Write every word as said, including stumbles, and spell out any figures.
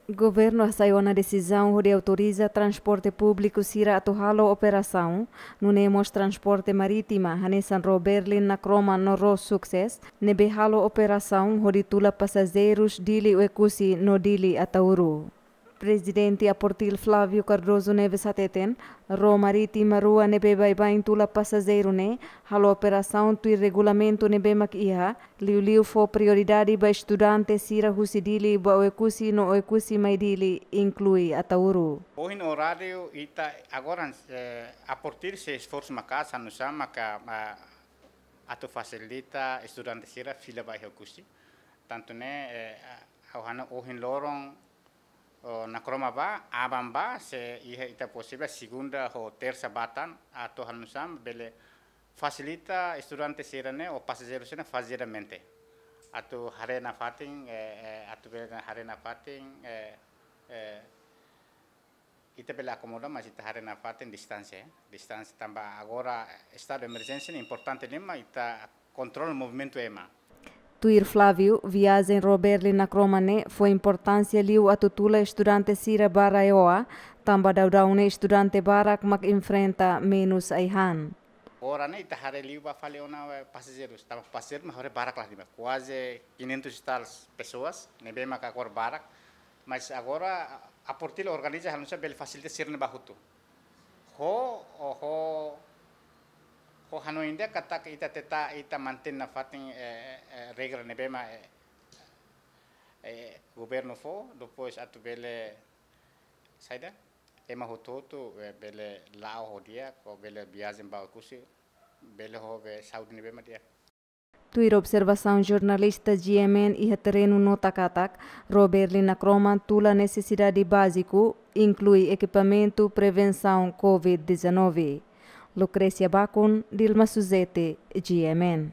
Governu hasai ona desizaun hodi autoriza transporte públiku sira atu halo operasaun, nune'e mós transporte marítima, hanesan ró Berlin Nakroman no ró Success, ne'ebé halo operasaun hodi tula pasajeirus Dili Oekusi no Dili Ataúru. Prezidente APORTIL Flávio Cardoso Neves hateten, ró marítima rua ne'ebé baibain tula pasajeiru ne'e halo operasaun tuir regulamentu ne'ebé mak iha, liuliu fó prioridade ba estudante sira husi Dili ba Oekusi no Oekusi mai Dili, inklui Ataúru. Ohin oráriu ita agora, eh, APORTIL sei esforsu maka'as, hanesan maka, ah, atu fasilita estudante sira fila ba iha Oekusi. Tantu ne'e, eh, ha'u hanoin ohin loron, oh, Nakroma bá, aban bá, se iha ita posivel segunda ho tersa bá tan, atu hanesan bele fasilita estudante sira-ne'e ou pasajeiru sira-ne'e fazeadamente. Atu haree nafatin, eh, eh, atu bele haree nafatin, eh, eh, ita bele akomoda, mas ita haree nafatin distánsia, eh. Distánsia tanba agora estadu emerjénsia ne'e importante liu mak ita kontrola movimentu ema. Tuir Flávio, viajen ró Berlin Nakroman ne'e fó importánsia liu atu tula estudante sira ba RAEOA, tanba daudaun ne'e estudante barak mak enfrenta menus ai-han. Agora ne'e ita haree liu ba fali ona, eh, pasajeirus, tanba pasajeiru mak haree barak la, ne'e mak kuaze quinhentos e tal pessoas, ne'ebé mak agora barak, mas agora APORTIL organiza hanesan bele fasilita sira-ne'e bá hotu. Ho, ho, ho, ho hanoin ida katak ita tenta, ita mantein nafatin, eh, eh, regra ne'ebé mak, eh, eh, governu fó, depois atu bele saida, ema hotu-hotu, eh, bele la'o ho di'ak, ou bele viajen ba Oekusi, bele ho be saúde ne'ebé mak di'ak. Tuir observasaun jornalista GMN iha terrenu nota katak, ró Berlin Nakroman tula nesesidade báziku, inklui ekipamentu prevensaun covid dezanove. Lucrécia Bacon, Dilma Suzete, GMN.